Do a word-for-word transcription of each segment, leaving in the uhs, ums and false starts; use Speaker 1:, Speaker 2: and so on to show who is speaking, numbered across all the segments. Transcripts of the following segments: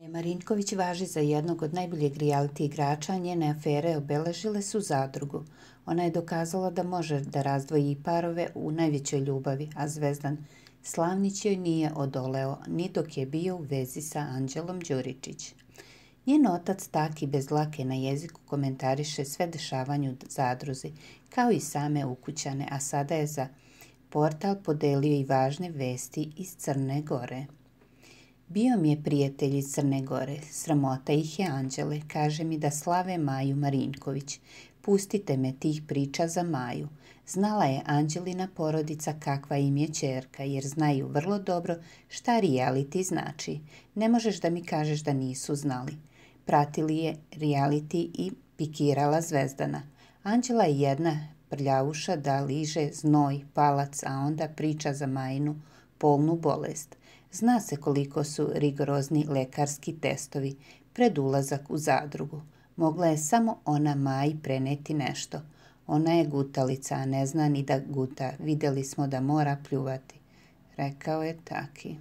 Speaker 1: Marinković važi za jednog od najboljeg reality igrača, a njene afere obeležile su Zadrugu. Ona je dokazala da može da razdvoji parove u najvećoj ljubavi, a Zvezdan Slavnić joj nije odoleo ni dok je bio u vezi sa Anđelom Đuričić. Njen otac Taki bez dlake na jeziku komentariše sve dešavanje u Zadruzi, kao i same ukućane, a sada je za portal podelio i važne vesti iz Crne Gore. Bio mi je prijatelj iz Crne Gore, sramota ih je Anđele, kaže mi da slave Maju Marinković. Pustite me tih priča za Maju. Znala je Anđelina porodica kakva im je ćerka, jer znaju vrlo dobro šta reality znači. Ne možeš da mi kažeš da nisu znali. Pratili je reality i pikirala Zvezdana. Anđela je jedna prljavuša da liže znoj, palac, a onda priča za Majinu polnu bolest. Zna se koliko su rigorozni lekarski testovi pred ulazak u Zadrugu. Mogla je samo ona Maji preneti nešto. Ona je gutalica, a ne zna ni da guta. Vidjeli smo da mora pljuvati, rekao je Taki.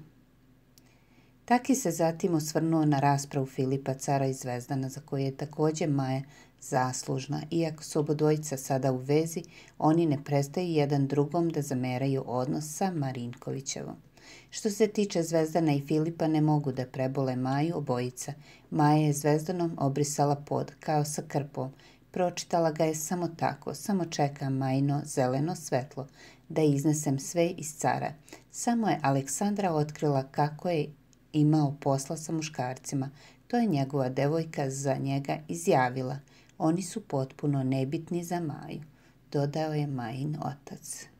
Speaker 1: Taki se zatim osvrnuo na raspravu Filipa Cara i Zvezdana, za koju je također Maja zaslužna. Iako su obodvojica sada u vezi, oni ne prestaju jedan drugom da zameraju odnos sa Marinkovićevom. Što se tiče Zvezdana i Filipa, ne mogu da prebole Maju obojica. Maja je Zvezdanom obrisala pod, kao sa krpom. Pročitala ga je samo tako, samo čeka Majino zeleno svetlo, da iznesem sve iz Cara. Samo je Aleksandra otkrila kako je imao posla sa muškarcima. To je njegova devojka za njega izjavila. Oni su potpuno nebitni za Maju, dodao je Majin otac.